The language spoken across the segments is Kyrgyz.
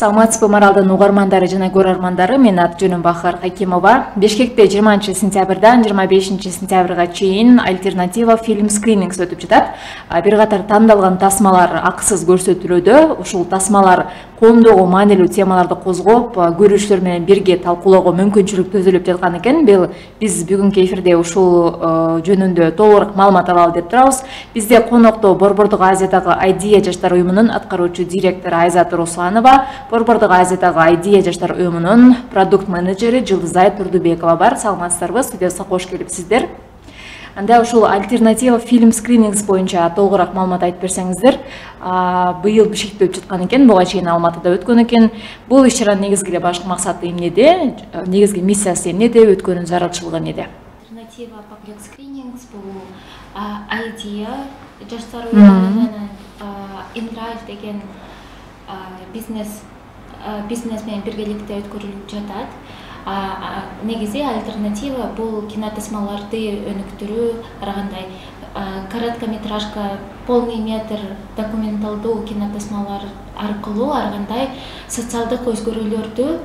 Саламатсызбы Маралдын угармандары жана көрөрмандары, мен аты-жөнүм Бахар Хакимова. Бишкекте 20 сентябрдан 25 сентябрга чейин альтернатива фильм скринингс өтүп жатат. Бир катар тандалган тасмалар акысыз көрсөтүлүүдө. Ушул тасмалар коомдогу маанилүү темаларды козгоп, көрүүчүлөр менен бирге талкуулоого мүмкүнчүлүк түзүлүп жаткан экен. Биз бүгүнкү эфирде ушул жөнүндө толугураак маалымат алалы деп турабыз. Бизде конокто Борбордук Азиядагы Айдия жаштар уюмунун аткаруучу директору Айзат Русланова, Борбордук Азиядагы Айдия жаштар уюмунун продукт менеджери Жылдызай Турдубекова бар. Саламатсыздарбы? Студияга кош келипсиздер. Анда ушул альтернатива фильм скринингс боюнча толугураак маалымат айтып берсеңиздер. Быйыл Бишкекте өтүп жаткан экен, буга чейин Алматыда өткөн экен. Бул иш-чаранын негизги эле башкы максаты эмнеде? Негизги миссиясы эмнеде? Өткөнүн зарылчылыгы эмнеде? Альтернатива public screenings бул Айдия жаштар уюмунун InDrive деген бизнес менен биргеликте өткөрүлүп жатат. Негизи альтернатива бул кинотасмаларды өнүктүрүү, арагандай короткометражка, полный метр документалдуу кинотасмалар аркылуу арагандай социалдык өзгөрүүлөрдү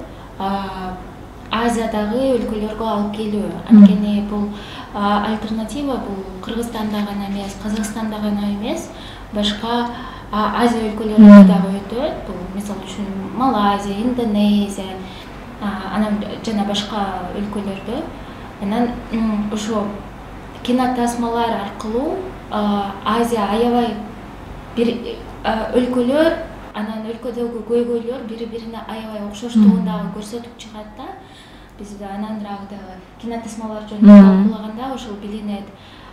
Азиядагы өлкөлөргө алып келүү. Анткени бул альтернатива бул Кыргызстанда гана эмес, Казакстанда гана эмес, башка Азия өлкөлөрүндө дагы өтөт. Бул мисалы үчүн Малайзия, Индонезия, анан жана башка өлкөлөрдө. Анан ошо кинотасмалар аркылуу Азия аябай бир өлкөлөр, анан өлкөдөгү көйгөйлөр бири-бирине аябай окшоштугун дагы көрсөтүп чыгат да. Биз анандыраак дагы кинотасмалар жөнүндө талкуулаганда ошол билинет.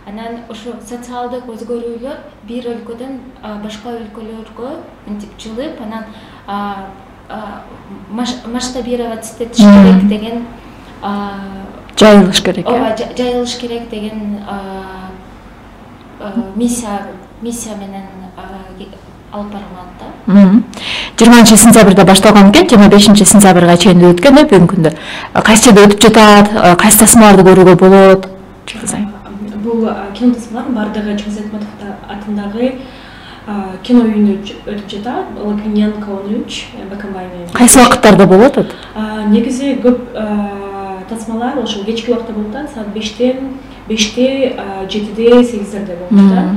Анан ошо социалдык өзгөрүүлөр бир өлкөдөн башка өлкөлөргө мынтип жылып, анан масштабировать этиш керек деген жайылыш керек. Ооба, жайылыш керек деген миссия менен алып барылат да. 20 сентябрда башталган экен, 25 сентябрга чейин өткөн бүгүнкү күндө. Кайсы жерде өтүп жатат, кайсы тасмаларды көрүүгө болот? Бул кинотасмалар бардыгы Чыңгыз Айтматов атындагы кино үйүндө өтүп жатат. Лакиненко 13, Бакамбай менен. Кайсы убакыттарда болот? Негизи көп тасмалар ошол кечки убакта болуп атат, саат 5-те, 7-де, 8-дерде болуп жатат.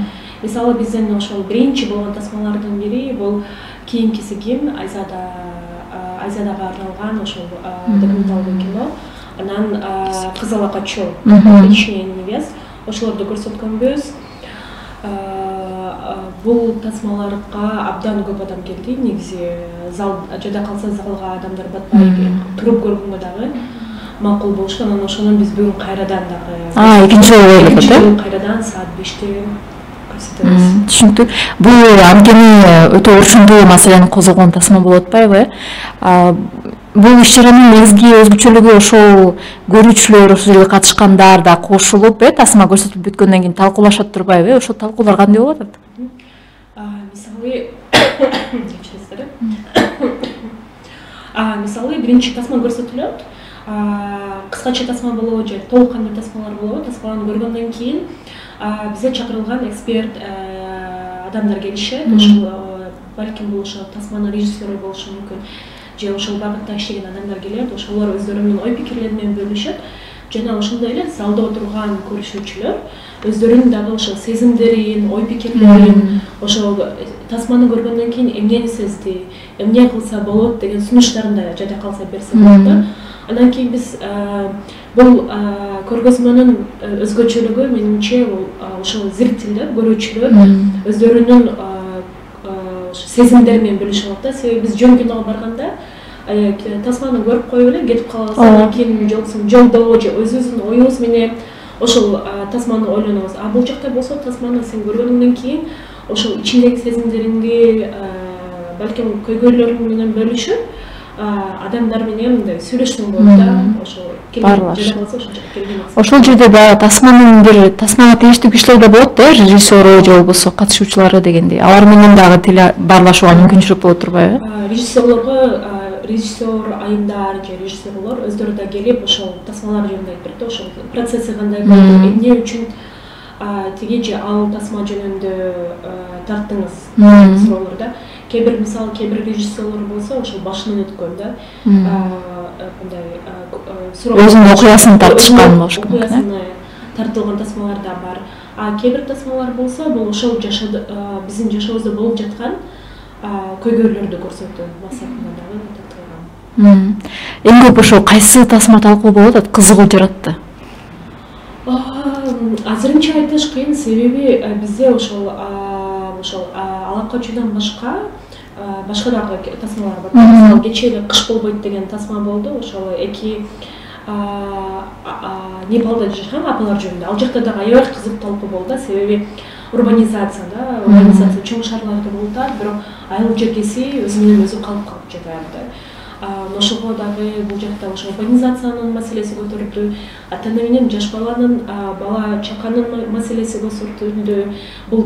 Мисалы бизден ошол биринчи болгон тасмалардын бири бул кийинкиси ким, Азиядага арналган ошол документалдуу кино. Анан Кызыл Акачу, Вечная невест, ошолорду көрсөткөнбүз. Бул тасмаларга абдан көп адам келди. Негизи зал жада калса залга адамдар батпай туруп көргөнгө дагы макул болушту. Анан ошондон биз бүгүн кайрадан дагы экинчи жолу кайрадан саат 5-те түшүнүктүү. Бул анткени өтө урчундуу маселени козгогон тасма болуп атпайбы? Бул иш-чаранын негизги өзгөчөлүгү ошол көрүүчүлөр, ошол жерге катышкандар да кошулуп, тасма көрсөтүп бүткөндөн кийин талкуулашат турбайбы? Ошол талкуулар кандай болуп атат? Мисалы биринчи тасма көрсөтүлөт. Кыскача тасма болобу же толук кандуу тасмалар болобу? Тасманы көргөндөн кийин бизге чакырылган эксперт адамдар келишет. Ошол балким бул ошол тасманын режиссеру болушу мүмкүн. Же ошол багытта иштеген адамдар келет, ошолор өздөрүнүн ой пикирлери менен бөлүшөт. Жана ошондой эле залда отурган көрүшүүчүлөр өздөрүнүн дагы ошол сезимдерин, ой пикирлерин, ошол тасманы көргөндөн кийин эмнени сезди, эмне кылса болот деген сунуштарын да жада калса берсе болот да. Андан кийин биз бул көргөзмөнүн өзгөчөлүгү менимче ошол зрителдер, көрүүчүлөр өздөрүнүн сезимдери менен бөлүшүп алат да. Себеби биз жөн киного барганда тасманы көрүп коюп эле кетип калабыз. Андан кийин жолдо же өзүбүздүн оюбуз менен ошол тасманы ойлонобуз. Бул жакта болсо тасманы сен көргөндөн кийин ошол ичиндеги сезимдериңди, балким көйгөйлөрүң менен бөлүшүп адамдар менен мындай сүйлөшсөң болот да. Ошол жерде баягы тасманын бир тасмага тийиштүү кишилер да болот да, режиссеру же болбосо катышуучулары дегендей. Алар менен дагы тил баарлашууга мүмкүнчүлүк болот турбайбы? Режиссер айымдар же режиссерлор өздөрү да келип ошол тасмалар жөнүндө айтып берет. Ошол процесси кандай болду, эмне үчүн тиги же ал тасма жөнүндө тарттыңыз суроолор да. кээ бир режиссерлор болсо ошол башынан өткөн да мындай өзүнүн окуясын тартышкан болуш керек. Окуясына тартылган тасмалар да бар. А кээ бир тасмалар болсо бул ошол биздин жашообузда болуп жаткан көйгөйлөрдү көрсөтүү максатында дагы тартылган. Эң көп ошо кайсы тасма талкуу болуп атат, кызыгуу жаратты? Азырынча айтыш кыйын, себеби бизде ошол алакочудан башка дагы тасмалар бар. Мисалы кечээ эле кыш болбойт деген тасма болду. Ошол эки Непалда жашаган апалар жөнүндө. Ал жакта дагы аябай кызык талкуу болду, себеби урбанизация чоң шаарларда болуп атат, бирок айыл жергеси өзү менен өзү калып жатат. Ошого дагы бул жакта ошо урбанизациянын маселеси көтөрүлдү, ата-ана менен жаш баланын, бала чаканын маселеси көрсөтүлдү, бул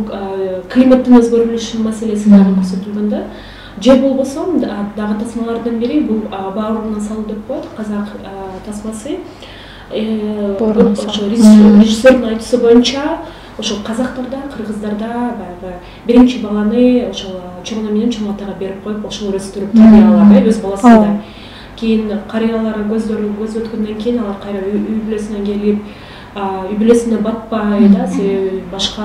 климаттын өзгөрүлүшүнүн маселеси дагы көрсөтүлгөн да. Же болбосо дагы тасмалардын бири бул баарына салуу деп коет, казак тасмасы. Ошо режиссердин айтуусу боюнча ошол казактарда, кыргыздарда баягы биринчи баланы ошол чоң менен чоң атага берип коюп, ошол өстүрүп тарбиялап, өз баласындай. Кийин карыялар көз өткөндөн кийин алар кайра үй бүлөсүнө келип, үй бүлөсүнө батпай да, себеби башка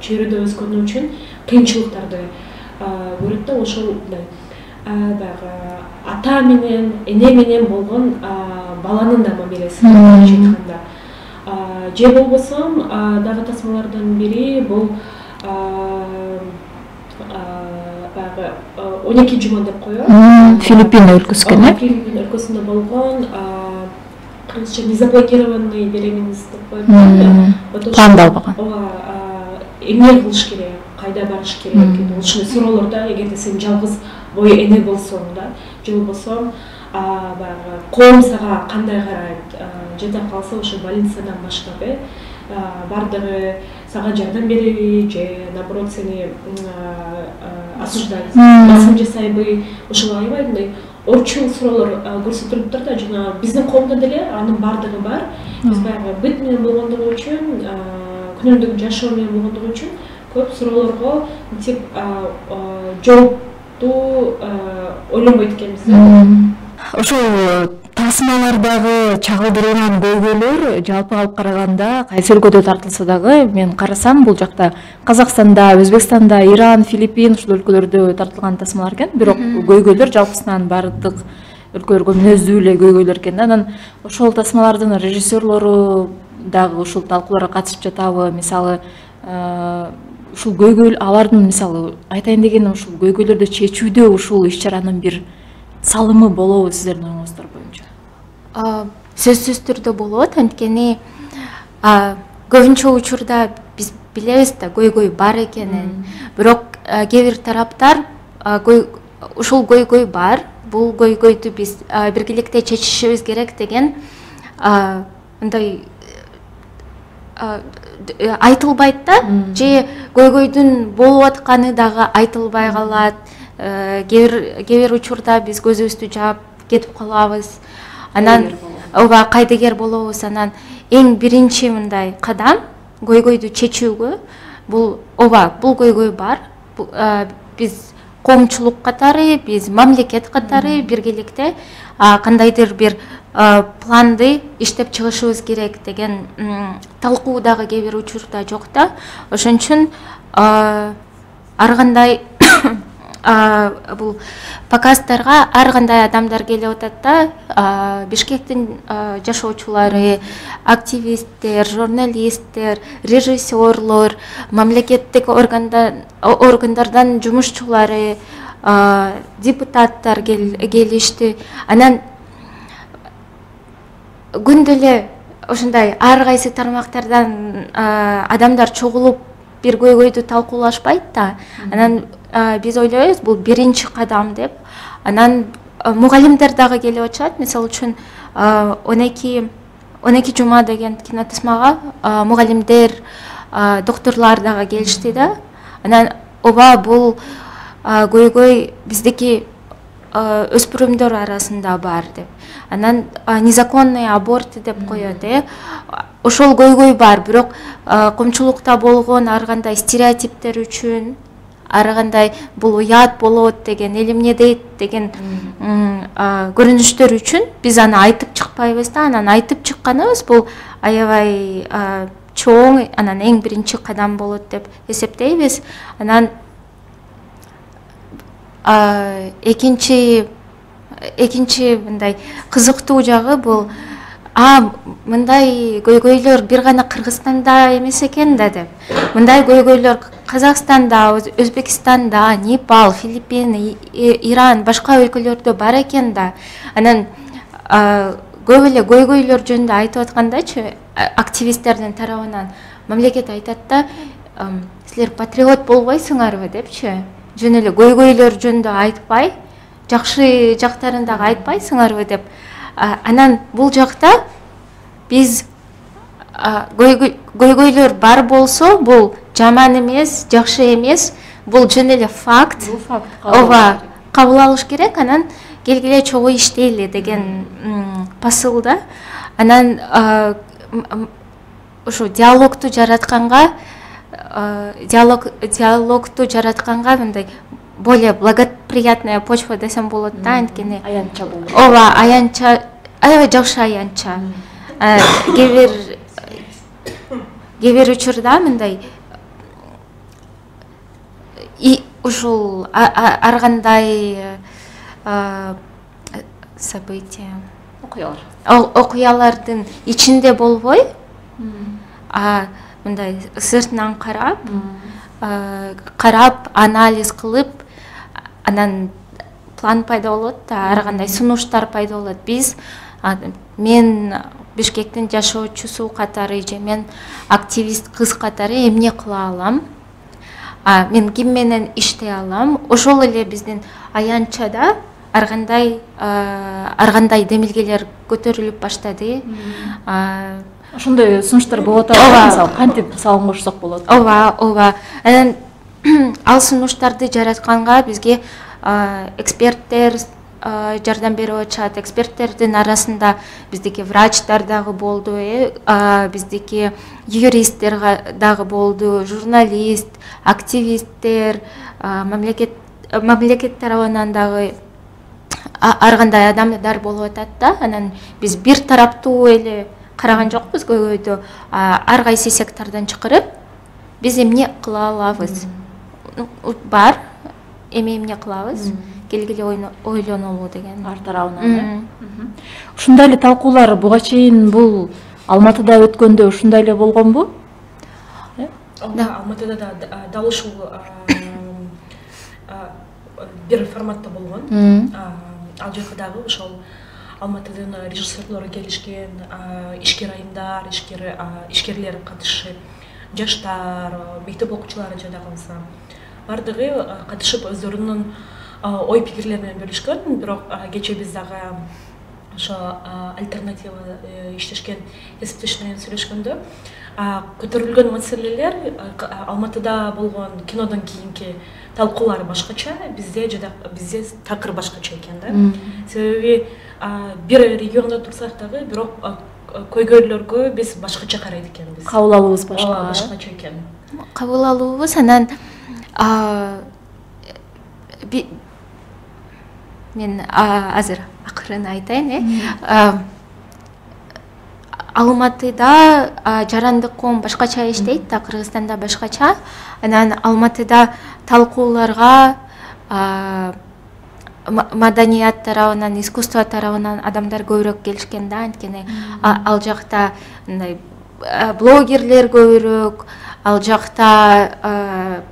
чөйрөдө өскөнү үчүн кыйынчылыктарды көрөт да, ошол баягы ата менен, эне менен болгон баланын да мамилеси айтканда. Же болбосо дагы тасмалардын бири бул баягы 12 жума деп коет. Филиппин өлкөсүнө. Филиппин өлкөсүндө болгон кыргызча незаблокированный беременность деп коет. Пландалбаган. Эмне кылыш керек, кайда барыш керек, ушундай суроолор да, эгерде сен жалгыз бой эне болсоң да, же болбосо баягы коом сага кандай карайт, жада калса ошо больницадан баштап бардыгы сага жардам береби же наоборот сени осуждать, басым жасайбы, ошол аябай мындай орчун суроолор көрсөтүлүп турат да. Жана биздин коомдо деле анын бардыгы бар. Биз баягы быт менен болгондугу үчүн, күнүмдүк жашоо менен болгондугу үчүн көп суроолорго мынтип жоопту ойлонбойт экенбиз да. Ошол тасмалардагы чагылдырылган көйгөйлөр жалпы алып караганда кайсы өлкөдө тартылса дагы, мен карасам бул жакта Казакстанда, Өзбекстанда, Иран, Филиппин ушул өлкөлөрдө тартылган тасмалар экен. Бирок көйгөйлөр жалпысынан бардык өлкөлөргө мүнөздүү эле көйгөйлөр экен да. Анан ошол тасмалардын режиссерлору дагы ушул талкууларга катышып жатабы? Мисалы, ушул көйгөй алардын мисалы айтайын дегеним ушул көйгөйлөрдү чечүүдө ушул иш-чаранын бир салымы болобу сиздердин оюңуздар боюнча? Сөзсүз түрдө болот, анткени көбүнчө учурда биз билебиз да көйгөй бар экенин. Бирок кээ бир тараптар ушул көйгөй бар, бул көйгөйдү биз биргеликте чечишибиз керек деген мындай айтылбайт да, же көйгөйдүн болуп атканы дагы айтылбай калат. Кээ бир учурда биз көзүбүздү жаап кетип калабыз. Анан кайдыгер болобуз. Анан эң биринчи мындай кадам көйгөйдү чечүүгө бул көйгөй бар. Биз коомчулук катары, биз мамлекет катары биргеликте кандайдыр бир планды иштеп чыгышыбыз керек деген талкуу дагы кээ бир учурда жок да. Ошон үчүн ар кандай бул показдарга ар кандай адамдар келип атат да. Бишкектин жашоочулары, активисттер, журналисттер, режиссерлор, мамлекеттик органдардан жумушчулары, депутаттар келишти. Анан күндө эле ошондой ар кайсы тармактардан адамдар чогулуп бир көйгөйдү талкуулашпайт да. Анан биз ойлойбуз бул биринчи кадам деп. Анан мугалимдер дагы келип атышат. Мисалы үчүн 12 жума деген кинотасмага мугалимдер, докторлор дагы келишти да. Анан бул көйгөй биздики өспүрүмдөр арасында бар деп. Анан незаконный аборт деп коет. Ошол көйгөй бар, бирок коомчулукта болгон ар кандай стереотиптер үчүн, ары кандай бул уят болот деген, эл эмне дейт деген көрүнүштөр үчүн биз аны айтып чыкпайбыз да. Анан айтып чыкканыбыз бул аябай чоң, анан эң биринчи кадам болот деп эсептейбиз. Анан экинчи мындай кызыктуу жагы бул мындай көйгөйлөр бир гана Кыргызстанда эмес экен да деп. Мындай көйгөйлөр Казакстанда, Өзбекстанда, Непал, Филиппин, Иран, башка өлкөлөрдө бар экен да. Анан көп эле көйгөйлөр жөнүндө айтып аткандачы, активисттердин тарабынан мамлекет айтат да, силер патриот болбойсуңарбы депчи. Жөн эле көйгөйлөр жөнүндө айтпай, жакшы жактарын дагы айтпайсыңарбы деп. Анан бул жакта биз көйгөйлөр бар болсо, бул жаман эмес, жакшы эмес, бул жөн эле факт. Бул факт. Ооба, кабыл алыш керек. Анан келгиле чогуу иштейли деген посылда. Анан ушу диалогту жаратканга мындай более благоприятная почва десем болот да, анткени Аянтча болот. Ооба, аянтча, аябай жакшы аянтча. Кээ бир учурда мындай ушул ар кандай события, окуялардын ичинде болбой, мындай сыртынан карап, анализ кылып, анан план пайда болот да, ар кандай сунуштар пайда болот. Мен Бишкектин жашоочусу катары же мен активист кыз катары эмне кыла алам? Мен ким менен иштей алам? Ошол эле биздин аянтчада ар кандай демилгелер көтөрүлүп баштады. Ошондой сунуштар болот атабы, мисалы кантип салым кошсок болот? Ооба. Анан ал сунуштарды жаратканга бизге эксперттер жардам берип атышат. Эксперттердин арасында биздики врачтар дагы болду, биздики юристтер дагы болду, журналист, активисттер, мамлекет тарабынан дагы ар кандай адамдар болуп атат да. Анан биз бир тараптуу эле караган жокпуз көйгөйдү. Ар кайсы сектордон чакырып, биз эмне кыла алабыз? Бар, эмне кылабыз? Келгиле ойлонолу деген. Ар тарабынан. Ушундай эле талкуулар буга чейин бул Алматыда өткөндө ушундай эле болгонбу? Алматыда дал ушул бир форматта болгон. Ал жака дагы ошол Алматыдын режиссерлору келишкен, ишкер айымдар, ишкерлер катышып, жаштар, мектеп окуучулары жада калса бардыгы катышып өздөрүнүн ой пикирлери менен бөлүшкөн. Бирок кечээ биз дагы ошо альтернатива иштешкен кесиптеш менен сүйлөшкөндө көтөрүлгөн маселелер Алматыда болгон кинодон кийинки талкуулар башкача, бизде такыр башкача экен да. Себеби бир региондо турсак дагы, бирок көйгөйлөргө биз башкача карайт экенбиз. Кабыл алуубуз башкача экен. Кабыл алуубуз. Анан мен азыр акырын айтайын. Алматыда жарандык коом башкача иштейт да, Кыргызстанда башкача. Анан Алматыда талкууларга маданият тарабынан, искусство тарабынан адамдар көбүрөөк келишкен да, анткени ал жакта мындай блогерлер көбүрөөк, ал жакта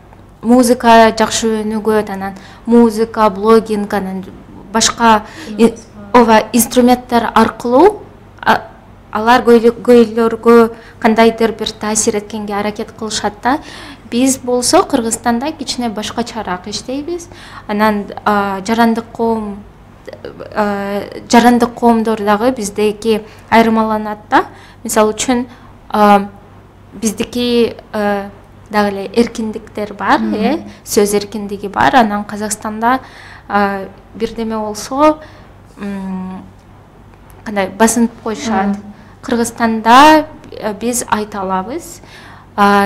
музыка жакшы өнүгөт, анан музыка, блогинг, анан башка инструменттер аркылуу алар көйлөргө кандайдыр бир таасир эткенге аракет кылышат да. Биз болсо Кыргызстанда кичине башкачараак иштейбиз. Анан жарандык коомдор дагы биздеки айырмаланат да. Мисалы үчүн биздики дагы эле эркиндиктер бар, сөз эркиндиги бар. Анан Казакстанда бирдеме болсо кандай басынып коюшат. Кыргызстанда биз айта алабыз.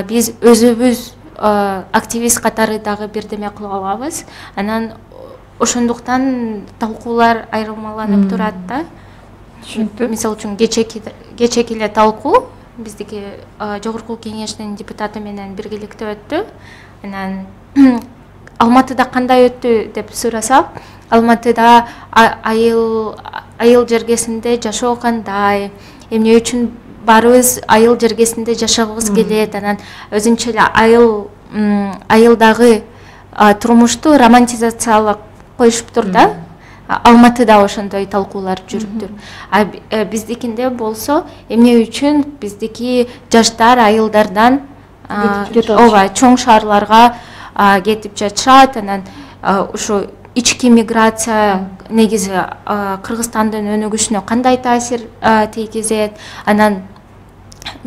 Биз өзүбүз активист катары дагы бирдеме кылып алабыз. Анан ошондуктан талкуулар айырмаланып турат да. Түшүнүктүү. Мисалы үчүн кечеки эле талкуу биздики жогорку кеңештин депутаты менен биргеликте өттү. Анан Алматыда кандай өттү деп сурасак, Алматыда айыл жергесинде жашоо кандай, эмне үчүн баарыбыз айыл жергесинде жашагыбыз келет, анан өзүнчө эле айылдагы турмушту романтизациялап коюшуптур да. Алматыда ошондой талкуулар жүрүптүр. Биздикинде болсо эмне үчүн биздики жаштар айылдардан ооба чоң шаарларга кетип жатышат, анан ушу ички миграция негизи Кыргызстандын өнүгүшүнө кандай таасир тийгизет, анан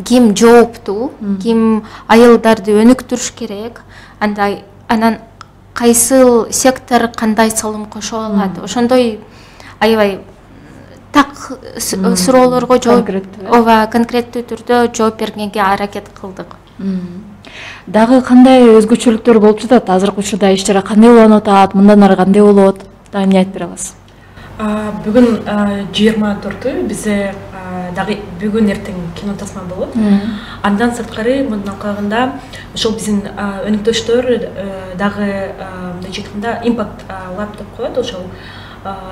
ким жооптуу, ким айылдарды өнүктүрүш керек, анан кайсыл сектор кандай салым кошо алат, ошондой аябай так суроолорго жооп, ооба конкреттүү түрдө жооп бергенге аракет кылдык. Дагы кандай өзгөчөлүктөр болуп жатат? Азыркы учурда иш чара кандай уланып атат? Мындан ары кандай болот? Дагы эмне айтып бере аласыз? Бүгүн 24 бизде дагы бүгүн эртең кино тасма болот. Андан сырткары мындан калганда ошол биздин өнүктөштөр дагы мындай айтканда импакт лаб деп коет, ошол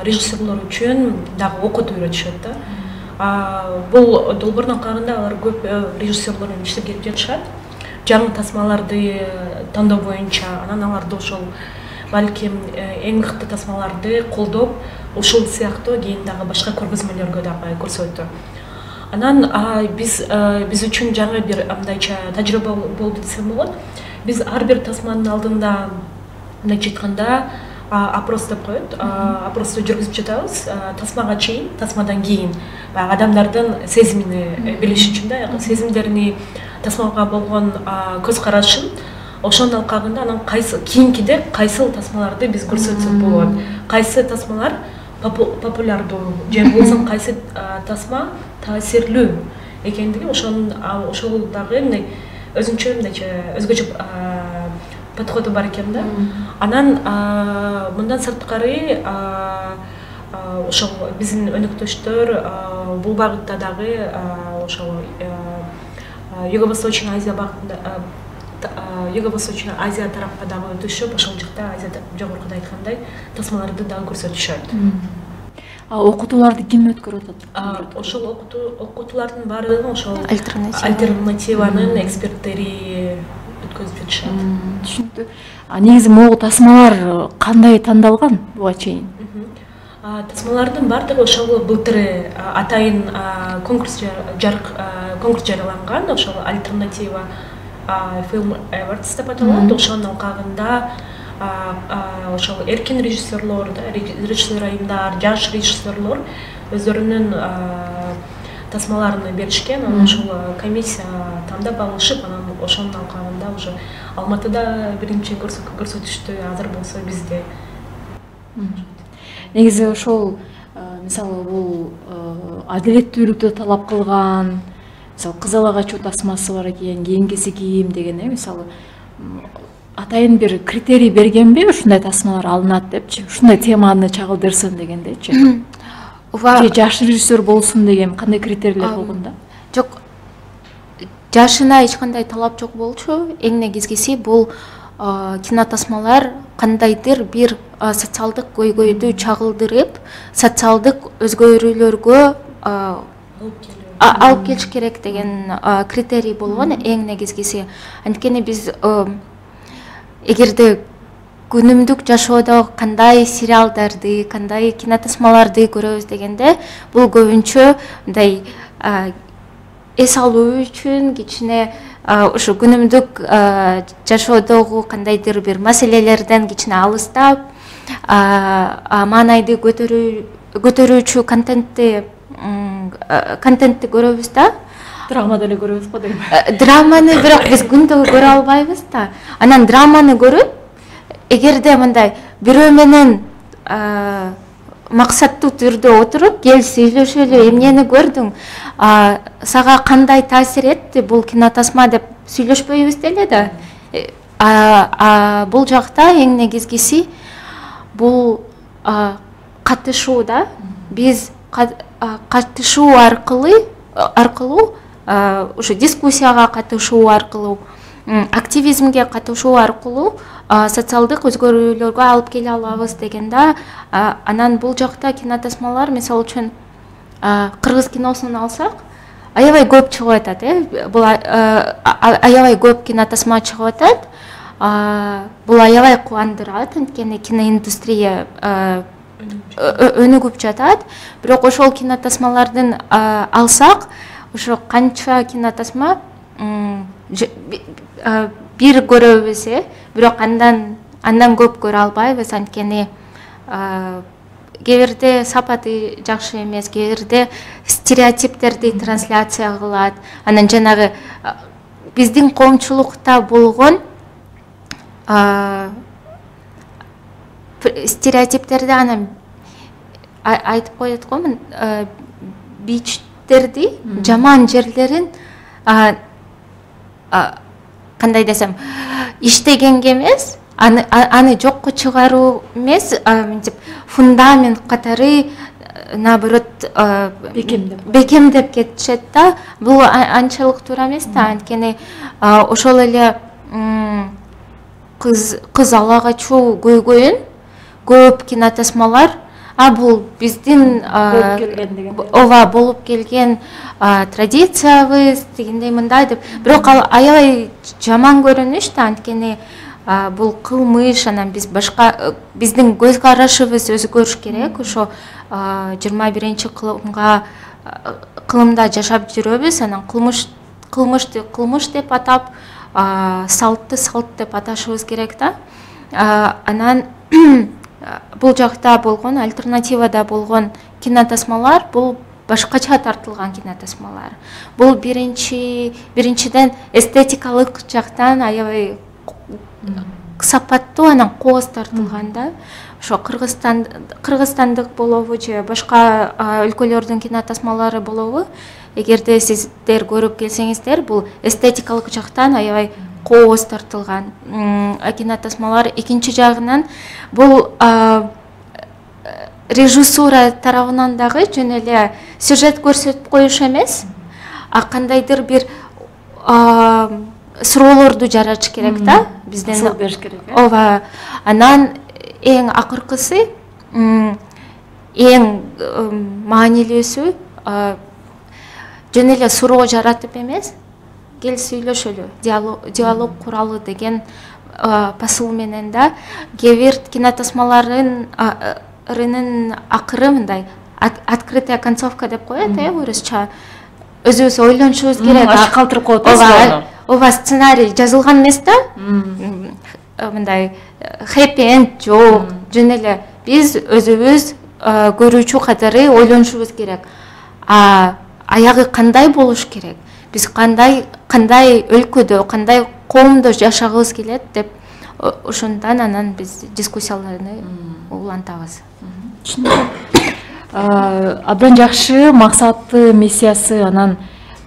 режиссерлор үчүн дагы окутуп үйрөтүшөт да. Бул долбоордон калганда алар көп режиссерлор менен иштеп келип жатышат. Жаңы тасмаларды тандоо боюнча, анан аларды ошол балким эң мыкты тасмаларды колдоп, ушул сыяктуу кийин дагы башка көргөзмөлөргө дагы көрсөттү. Анан биз үчүн жаңы бир мындайча тажрыйба болду десем болот. Биз ар бир тасманын алдында мындайча айтканда опрос деп коет, опросту жүргүзүп жатабыз. Тасмага чейин, тасмадан кийин адамдардын сезимин билиш үчүн да, сезимдерини, тасмага болгон көз карашын, ошонун алкагында анан кийинкиде кайсыл тасмаларды биз көрсөтсөк болот, кайсы тасмалар популярдуу же болбосо кайсы тасма таасирлүү экендиги, ошол дагы мындай өзүнчө мындайча өзгөчө подходу бар экен да. Анан мындан сырткары ошол биздин өнүктөштөр бул багытта дагы ошол Юго-Восточный Азия багытында, Юго-Восточный Азия тарапка дагы өтүшүп, ошол жакта Азияда жогоркуда айткандай тасмаларды дагы көрсөтүшөт. Окутууларды ким өткөрүп атат? Ошол окутуулардын баардыгын ошол альтернативанын эксперттери өткөзүп жатышат. Түшүнүктүү. Негизи могу тасмалар кандай тандалган буга чейин? Тасмалардын баардыгы ошол былтыр атайын конкурс жарыяланган, ошол альтернатива Film Awards деп аталат. Ошонун алкагында ошол эркин режиссерлор, режиссер айымдар, жаш режиссерлор өздөрүнүн тасмаларын беришкен, анан ошол комиссия тандап алышып, анан ошонун алкагында уже Алматыда биринчи көрсөтүштү, азыр болсо бизде. Негизи ошол мисалы бул адилеттүүлүктү талап кылган, мисалы Кызыл Агачуу тасмасы бар экен, кийинкиси кийим деген, мисалы атайын бир критерий бергенби, ушундай тасмалар алынат депчи, ушундай теманы чагылдырсын дегендечи. Же жаш режиссер болсун деген кандай критерийлер болгон да? Жок, жашына эч кандай талап жок болчу. Эң негизгиси бул кинотасмалар кандайдыр бир социалдык көйгөйдү чагылдырып, социалдык өзгөрүүлөргө алып келиш керек деген критерий болгон, эң негизгиси. Анткени биз эгерде күнүмдүк жашоодо кандай сериалдарды, кандай кинотасмаларды көрөбүз дегенде, бул көбүнчө мындай эс алуу үчүн кичине ушу күнүмдүк жашоодогу кандайдыр бир маселелерден кичине алыстап, маанайды көтөрүүчү контентти көрөбүз да. Драма деле көрөбүз го дейм. Драманы бирок биз күндө көрө албайбыз да. Анан драманы көрүп, эгерде мындай бирөө менен максаттуу түрдө отуруп, кел сүйлөшөлү, эмнени көрдүң, сага кандай таасир этти бул кинотасма деп сүйлөшпөйбүз деле да. бул жакта эң негизгиси бул катышуу да. Биз катышуу аркылуу ушу дискуссияга катышуу аркылуу, активизмге катышуу аркылуу социалдык өзгөрүүлөргө алып келе алабыз деген да. Анан бул жакта кинотасмалар, мисалы үчүн кыргыз киносун алсак, аябай көп чыгып атат. Бул аябай көп кинотасма чыгып атат. Бул аябай кубандырат, анткени киноиндустрия өнүгүп жатат. Бирок ошол кинотасмалардын алсак, ошо канча кинотасма бир көрөбүз, бирок андан көп көрө албайбыз, анткени кээ бирде сапаты жакшы эмес, кээ бирде стереотиптерди трансляция кылат. Анан жанагы биздин коомчулукта болгон стереотиптерди анан айтып коет го, бичтерди, жаман жерлерин кандай десем, иштегенге эмес, аны жокко чыгаруу эмес, мынтип фундамент катары наоборот бекемдеп кетишет да. Бул анчалык туура эмес да, анткени ошол эле кыз ала качуу көйгөйүн көп кинотасмалар бул биздин болуп келген традициябыз дегендей мындай деп. Бирок ал аябай жаман көрүнүш да, анткени бул кылмыш. Анан биз башка, биздин көз карашыбыз өзгөрүш керек. Ошо 21 кылымда жашап жүрөбүз. Анан кылмышты кылмыш деп атап, салтты салт деп аташыбыз керек да. Анан бул жакта болгон, альтернативада болгон кинотасмалар бул башкача тартылган кинотасмалар. Бул биринчиден эстетикалык жактан аябай сапаттуу, анан кооз тартылган да. Ошо кыргызстандык болобу же башка өлкөлөрдүн кинотасмалары болобу, эгерде сиздер көрүп келсеңиздер, бул эстетикалык жактан аябай кооз тартылган кинотасмалар. Экинчи жагынан бул режиссура тарабынан дагы жөн эле сюжет көрсөтүп коюш эмес, кандайдыр бир суроолорду жаратыш керек да, бизден ысыл бериш керек. Ооба. Анан эң акыркысы, эң маанилүүсү жөн эле суроо жаратып эмес, кел сүйлөшөлү, диалог куралы деген посыл менен да. Кээ бир кинотасмалардын акыры мындай открытая концовка деп коет, орусча. Өзүбүз ойлонушубуз керек. Аш калтырып коет. Ооба, сценарий жазылган эмес да. Мындай хэппи энд жок. Жөн эле биз өзүбүз көрүүчү катары ойлонушубуз керек. Аягы кандай болуш керек? Биз кандай өлкөдө, кандай коомдо жашагыбыз келет деп ошондон анан биз дискуссияларды улантабыз. Абдан жакшы, максаты, миссиясы. Анан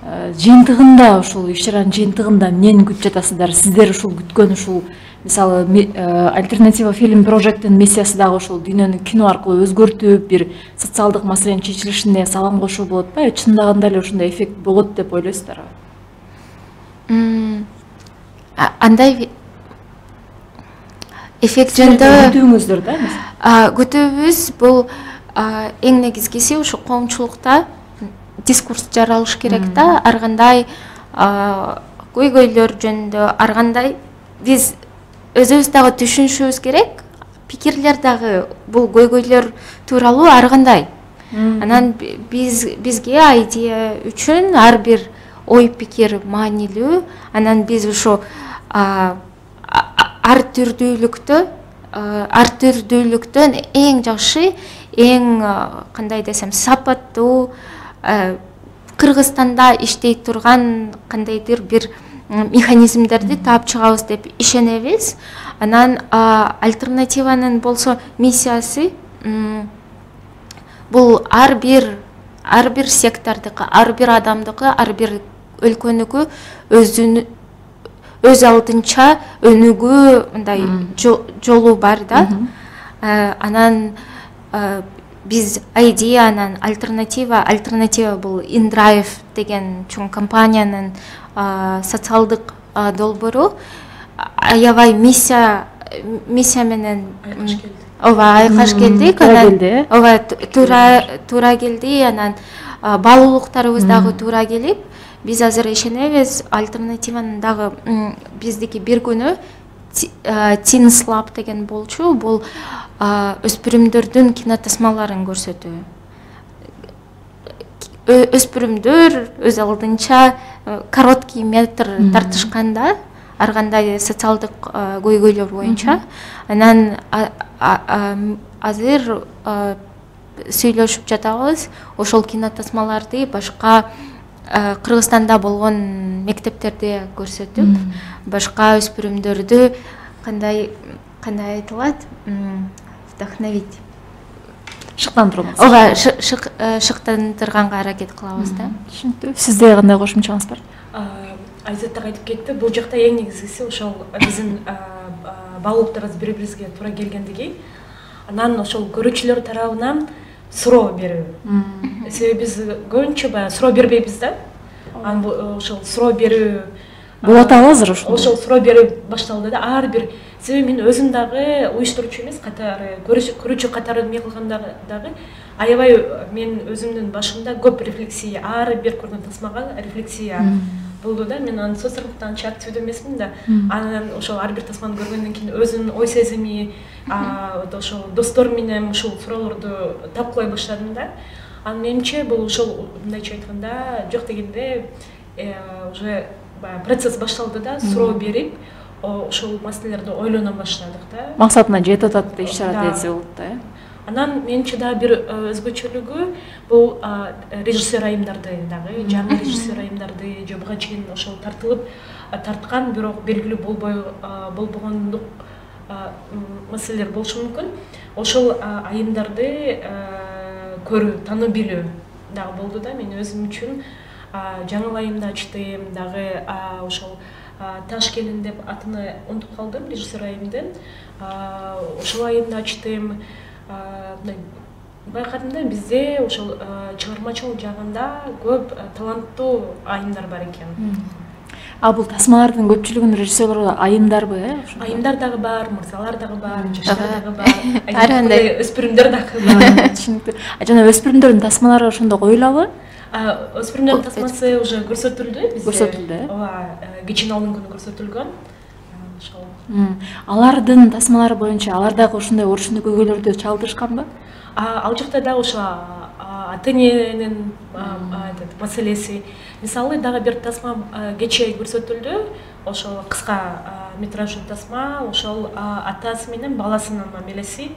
жыйынтыгында, ушул иш-чаранын жыйынтыгында эмнени күтүп жатасыздар? Сиздер ушул күткөн ушул, мисалы, альтернатива фильм прожекттин миссиясы дагы ушул дүйнөнү кино аркылуу өзгөртүп, бир социалдык маселенин чечилишине салам кошуу болот ба? Чындагында эле ушундай эффект болот деп ойлойсуздарбы? Андай эффект жөнүндө күтүүңүздөр да эмес? Күтүүбүз бул эң негизгиси ушу коомчулукта дискурс жаралыш керек да. Ар кандай көйгөйлөр жөнүндө, ар кандай биз өзүбүз дагы түшүнүшүбүз керек. Пикирлер дагы бул көйгөйлөр тууралуу ар кандай. Анан бизге идея үчүн ар бир ой пикир маанилүү. Анан биз ушу ар түрдүүлүктөн эң жакшы, эң кандай десем, сапаттуу, Кыргызстанда иштей турган кандайдыр бир механизмдерди таап чыгабыз деп ишенебиз. Анан альтернативанын болсо миссиясы бул ар бир сектордуку, ар бир адамдыкы, ар бир өлкөнүкү өз алдынча өнүгүү мындай жолу бар да. Анан биз ID анан альтернатива бул InDrive деген чоң компаниянын социалдык долбоору. Аябай миссия менен айкаш келдик. Туура келди. Анан баалуулуктарыбыз дагы туура келип, биз азыр ишенебиз альтернативанын дагы биздики бир күнү Teens Lab деген болчу. Бул өспүрүмдөрдүн кинотасмаларын көрсөтүү. Өспүрүмдөр өз алдынча короткий метр тартышканда ар кандай социалдык көйгөйлөр боюнча. Анан азыр сүйлөшүп жатабыз. Ошол кинотасмаларды башка Кыргызстанда болгон мектептерде көрсөтүп, башка өспүрүмдөрдү кандай айтылат, вдохновить, шыктандырабыз. Шыктандырганга аракет кылабыз да. Түшүнүктүү. Сизде кандай кошумчаңыз бар? Айзат так айтып кетти. Бул жакта эң негизгиси ошол биздин баалуулуктарыбыз бири-бирибизге туура келгендиги. Анан ошол көрүүчүлөр тарабынан суроо берүү. Себеби биз көбүнчө баягы суроо бербейбиз да. Анан ошол суроо берүү болуп атабы азыр ошол суроо берүү башталды да. Ар бир себеби мен өзүм дагы уюштуруучу эмес, катары көрүүчү катары эме кылганда дагы аябай мен өзүмдүн башымда көп рефлексия, ар бир көргөн тасмага рефлексия болду да. Мен анын социалдыктан анча активдүү эмесмин да. Анан ошол ар бир тасманы көргөндөн кийин өзүмдүн ой сезими, ошол достор менен ушул суроолорду талкуулай баштадым да. Анан менимче бул ошол мындайча айтканда жок дегенде уже процесс башталды да. Суроо берип, ошол маселелерди ойлоно баштадык да. Максатына жетип атат иш чара десе болот да. Анан менимче дагы бир өзгөчөлүгү бул режиссер айымдарды дагы, жаңы режиссер айымдарды же буга чейин ошол тарткан, бирок белгилүү болбогондук маселелер болушу мүмкүн. Ошол айымдарды көрүү, таануу билүү дагы болду да. Мен өзүм үчүн жаңы айымды ачтым дагы, ошол Таш келин деп атыны унутуп калдым, режиссер айымдын. Ошол айымды ачтым. Байкадым да, бизде ошол чыгармачылык жагында көп таланттуу айымдар бар экен. Бул тасмалардын көпчүлүгүнүн режиссерлору айымдарбы? Айымдар дагы бар, мырзалар дагы бар, жаштар дагы бар, өспүрүмдөр дагы бар. Түшүнүктүү. Жана өспүрүмдөрдүн тасмалары ошондо коюлабы? Өспүрүмдөрдүн тасмасы уже көрсөтүлдү бизде. Көрсөтүлдү. Кечиналдын күнү көрсөтүлгөн. Ошол. Алардын тасмалары боюнча алар дагы ошондой орушундуу көйгөйлөрдү чалдырышканбы? Ал жакта да ошо ата-эненин маселеси. Мисалы дагы бир тасма кечээ көрсөтүлдү. Ошол кыска метраждуу тасма, ошол атасы менен баласынын мамилеси.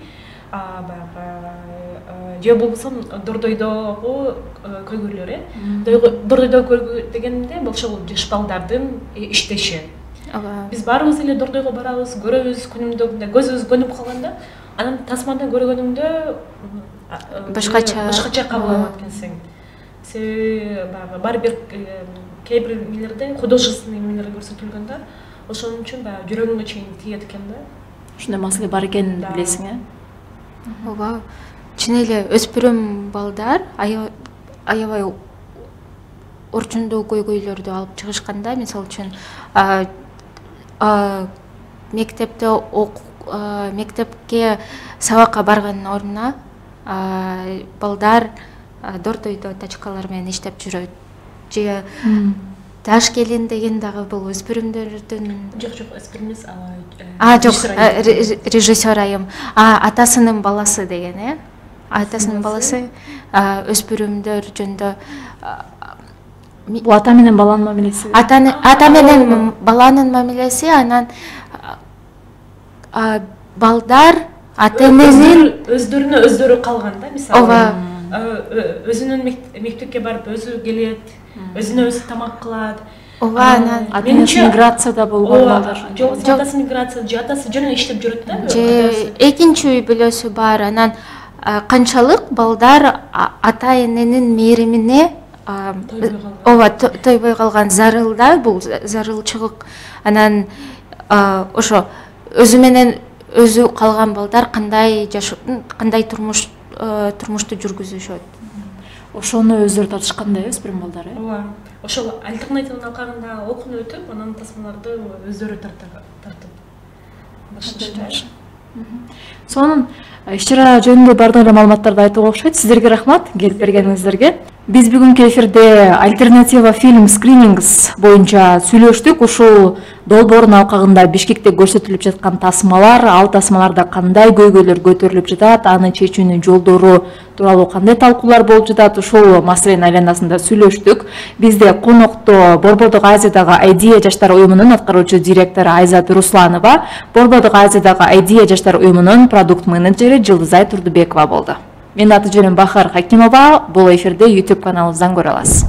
Же болбосо Дордойдогу көйгөйлөр. Дордойдогу көйгөй дегенде бул ошол жаш балдардын иштеши. Биз баарыбыз эле Дордойго барабыз, көрөбүз күнүмдө, көзүбүз көнүп калганда, анан тасмада көргөнүңдө башкача кабыл алат экенсиң. Себеби баары бир кээ бир эмелерде художественный эмелер көрсөтүлгөн да. Ошон үчүн баягы жүрөгүңө чейин тиет экен да. Ушундай маселе бар экенин билесиң, Ооба. Чын эле өспүрүм балдар аябай орчундуу көйгөйлөрдү алып чыгышканда, мисалы үчүн мектепке сабакка барганын ордуна балдар Дордойдо тачкалар менен иштеп жүрөт. Же Таш келин деген дагы бул өспүрүмдөрдүн жок өспүрүм эмес, жок режиссер айым. Атасынын баласы деген, атасынын баласы өспүрүмдөр жөнүндө. Бул ата менен баланын мамилеси. Ата менен баланын мамилеси, анан балдар ата-эненин өздөрүнө өздөрү калган да, мисалы. Өзүнүн мектепке барып өзү келет, өзүнө өзү тамак кылат. Анан менимче миграцияда болгон балдар. Жок, атасы миграция, же атасы жөн иштеп жүрөт да. Же экинчи үй бүлөсү бар. Анан канчалык балдар ата-эненин мээримине ооба тойбой калган зарылда бул зарылчылык анан ошо өзү менен өзү калган балдар кандай турмушту жүргүзүшөт. Ошону өздөрү тартышкандай өспүрүм балдар, ооба. Ошол альтернативанын алкагында окууну өтүп, анан тасмаларды өздөрү тартып башташты. Сонун иш-чара жөнүндө бардык эле маалыматтарды айтууга окшойт. Сиздерге рахмат келип бергениңиздерге. Биз бүгүнкү эфирде альтернатива фильм скринингс боюнча сүйлөштүк. Ушул долбоордун алкагында Бишкекте көрсөтүлүп жаткан тасмалар, ал тасмаларда кандай көйгөйлөр көтөрүлүп жатат, аны чечүүнүн жолдору тууралуу кандай талкуулар болуп жатат, ушул маселенин айланасында сүйлөштүк. Бизде конокто Борбордук Азиядагы Айдия жаштар уюмунун аткаруучу директору Айзат Русланова, Борбордук Азиядагы Айдия жаштар уюмунун продукт менеджери Жылдызай Турдубекова болду. Менин аты жөнүм Бахар Хакимова. Бул эфирде YouTube каналыбыздан көрө аласыз.